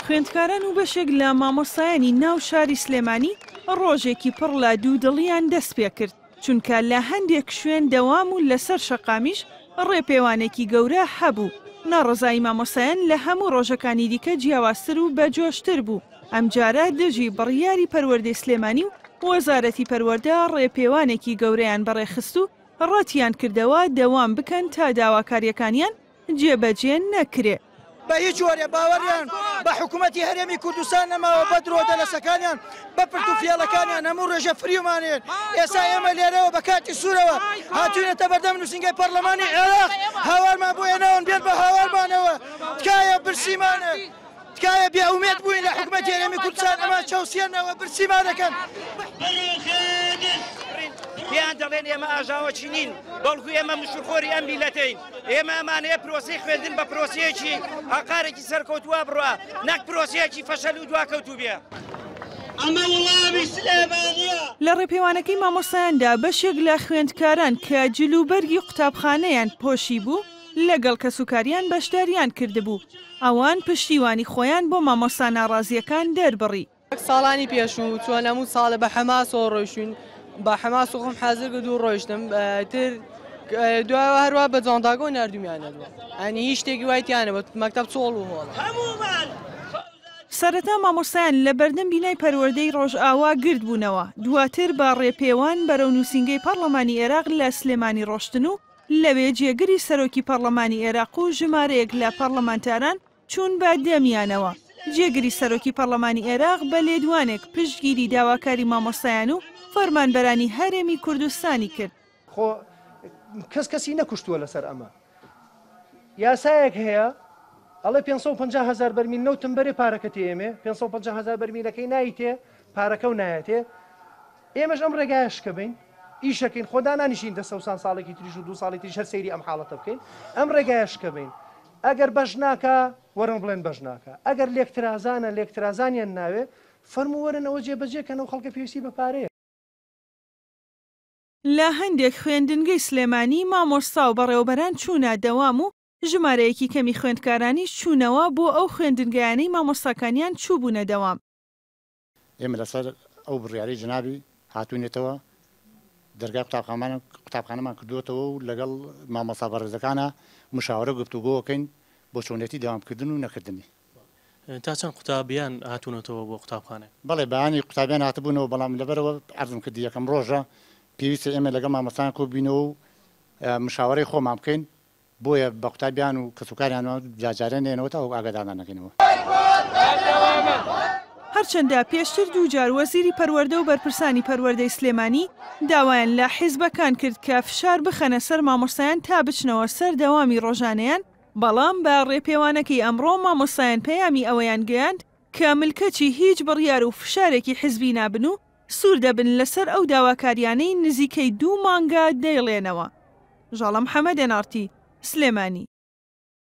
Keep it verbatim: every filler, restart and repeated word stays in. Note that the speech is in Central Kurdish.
خوێندکاران و بەشێک لە مامۆستایانی ناو شاری سلێمانی ڕۆژێکی پڕ لە دوودڵیان دەست پێکرد، چونکە لە هەندێک شوێن دەوام و لەسەر شەقامیش ڕێپێوانێکی گەورە هەبوو. ناڕەزایی مامۆستایان لە هەموو ڕۆژەکانی دیکە جیاوازتر و بەجۆشتر بوو. ئەمجارە دژی بڕیاری پەروەردەی سلێمانی و وەزارەتی پەروەردە ڕێپێوانێکی گەورەیان بەڕێخست و ڕەتیان کردەوە دەوام بکەن تا داواکاریەکانیان جێبەجێ نەکرێ. بە هیچ جۆرێ باوەڕیان بە حکوومەتی هەرێمی کوردستان نەماوە، بە درۆدەلەسەکانیان، بە پرت و فێڵەکانیان هەموو ڕێژە فریومانێن. ئێستا ئێمە لێرەوە بە کاتی سوورەوە هاتوینەتە بەردەم نووسینگەی پەرلەمانی عێراق، هاوارمان بۆ هێناون بێن بە هاوارمانەوە. تکایە برسیمانە، تکایە بێئومێد بووین لە حکوومەتی هەرێمی کوردستان، ئەمە چەوسێنەوە برسیمانەکەن. پێیان دەڵێن ئێمە ئاژاوەچی نین، بەڵکو ئێمە مشورخۆری ئەم میلەتەین. ئێمە ئەمانەیە پرۆسەی خوێندن بە پرۆسەیەکی ئاقارێکی سەرکەوتووە بڕوا، نەک پرۆسەیەکی فەشەل و دواکەوتوو بێ. ئەمە وڵامی سلێمانیە. لە ڕێپێوانەکەی مامۆستایاندا بەشێک لە خوێندکاران کە جلوبەرگی قوتابخانەیان پۆشی بوو لەگەڵ کەسوکاریان بەشداریان کردبوو. ئەوان پشتیوانی خۆیان بۆ مامۆستا ناڕازیەکان دەربڕی. ساڵانی پێشوو چۆن هەموو ساڵە بە حەماسەوە ڕۆیشتوین، بە حەماس و خۆم حازر کرد و ڕۆیشتم. تر دوایەوە هەروە بە جانتاکەوە ناردومیانەوە، ئەنی هیچ شتێکی وای تیانە بە مەکتەب چۆڵ و هۆڵە. سەرەتا مامۆستایان لە بەردەم بینای پەروەردەی ڕۆژئاوا گرد بوونەوە، دواتر بە ڕێپێوان بەرەو نووسینگەی پەرلەمانی عێراق لە سلێمانی ڕۆشتن و لەوێ جێگری سەرۆکی پەرلەمانی عێراق و ژمارەیەک لە پەرلەمانتاران چوون بە دەمیانەوە. جێگری سەرۆکی پەرلەمانی عێراق بە لێدوانێک پشتگیری داواکاری مامۆستایان و فەرمانبەرانی هەرێمی کوردستانی کرد. خۆ کەس کەسی نەکوشتووە لەسەر ئەمە. یاسایەک هەیە ئەڵێ پێنج سەد و پەنجا هەزار بەرمیل نەوتم بەرێ پارەکە تێمێ، پێنج سەد و پەنجا هەزار بەرمیلەکەی نایتێ، پارەکە و نایەتێ. ئێمەش ئەم ڕێگایە شکە بین، ئیشەکەین، خۆدا نانیشین دە سەوسان ساڵێکی تریش و دوو ساڵی تریش هەر سەیری ئەم حاڵەتە بکەین. ئەم ڕێگایە شکە بین. ئەگەر بەش ناکا وەرن بڵێن بەش ناکا، ئەگەر لێکترازانە لێکترازانیان ناوێ فەرموو وەرن ئەوە جێبەجێکەن، ئەو خەڵکە پێویستی بە پارەیە. لە هەندێک خوێندنگەی سلێمانی مامۆستا و بەڕێوەبەران چوونە دەوام و ژمارەیەکی کەمی خوێندکارانی چوونەوە بۆ ئەو خوێندنگایانەی مامۆستاکانیان چووبوونە دەوام. ئێمە لەسەر ئەو بڕیارەی جەنابی هاتوونێتەوە دەرگای قوتابخانەمان کردووەتەوە و لەگەڵ مامۆستا بەڕێزەکانە مشاوەرە گفتوگۆکەین بۆ چۆنیەتی دەوامکردن و نەکردنی. تا چەند قوتابیان هاتوونەتەوە بۆ قوتابخانە؟ بەڵێ، بەیانی قوتابیان هاتبوونەوە، بەڵام لەبەرەوە عەرزم کردی یەکەم ڕۆژە پێویستە ئێمە لەگەڵ مامۆستایان کۆبینەوە و مشاوەرەی خۆمان بکەین، بۆیە بە قوتابیان و کەسوکاریانەوە جاجارە نێنەوە تا ئەو ئاگادارمان نەکەینەوە. هەرچەندە پێشتر دووجار وەزیری پەروەردە و بەرپرسانی پەروەردەی سلێمانی داوایان لە حیزبەکان کرد کە فشار بخەنە سەر مامۆستایان تا بچنەوە سەر دەوامی ڕۆژانەیان، بەڵام بە ڕێپێوانەکەی ئەمڕۆ مامۆستایان پەیامی ئەوەیان گەیاند کە ملکەچی هیچ بڕیار و فشارێکی حیزبی نابن و سوور دەبن لەسەر ئەو داواکاریانەی نزیکەی دوو مانگە دەیڵێنەوە. ژاڵە محەممەد، ئێن ئاڕ تی، سلێمانی.